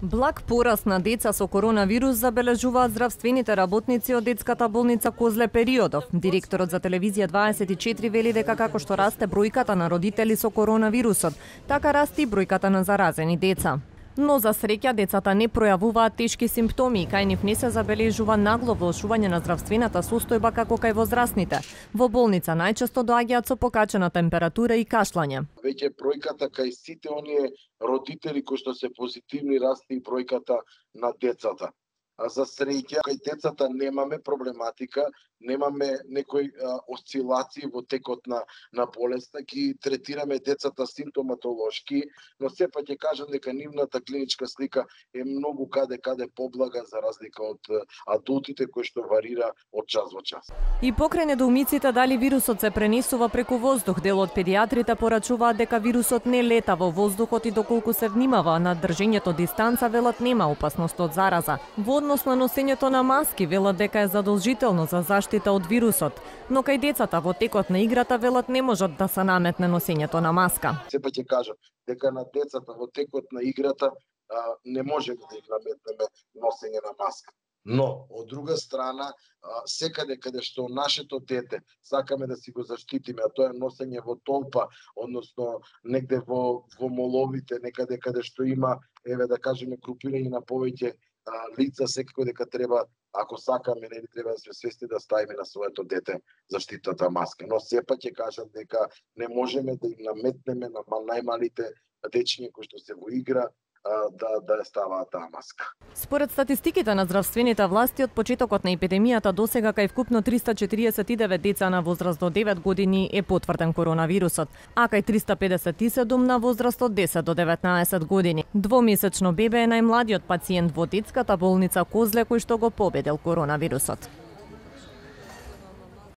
Благ пораст на деца со коронавирус забележуваат здравствените работници од детската болница Козле Периодов. Директорот за телевизија 24 вели дека како што расте бројката на родители со коронавирусот, така расте и бројката на заразени деца. Но за среќа децата не пројавуваат тешки симптоми и кај нив не се забележува нагло влошување на здравствената состојба како кај возрастните. Во болница најчесто доаѓаат со покачена температура и кашлање. Веќе бројката кај сите оние родители кои што се позитивни расте и бројката на децата. А за среќа кај децата немаме проблематика, немаме некои осцилации во текот на болеста, ги третираме децата симптоматолошки, но сепак ќе кажам дека нивната клиничка слика е многу каде поблага за разлика од адултите кои што варира од час во час. И покрај недоумиците дали вирусот се пренесува преку воздух, дел од педиатрите порачуваат дека вирусот не лета во воздухот и доколку се внимава на држењето дистанца, велат нема опасност од зараза. Во однос на носењето на маски, велат дека е задолжително за заштита од вирусот, но кај децата во текот на играта велат не можат да се наметне носењето на маска. Сепак ќе кажам дека на децата во текот на играта не можеме да им наметнеме носење на маска. Но, од друга страна, секаде каде што нашето дете сакаме да си го заштитиме, а тоа е носење во толпа, односно негде во моловите, некаде каде што има, да кажеме, групирање на повеќе лица, секако дека треба, ако сакаме, не треба да сме свесни да ставиме на своето дете заштитната маска. Но сепак ќе кажам дека не можеме да им наметнеме на најмалите дечиња кои што се во игра да ставаат таа маска. Според статистиките на здравствените власти, од почетокот на епидемијата досега кај вкупно 349 деца на возраст до 9 години е потврден коронавирусот, а кај 357 на возраст од 10 до 19 години. Двомесечно бебе е најмладиот пациент во детската болница Козле кој што го победил коронавирусот.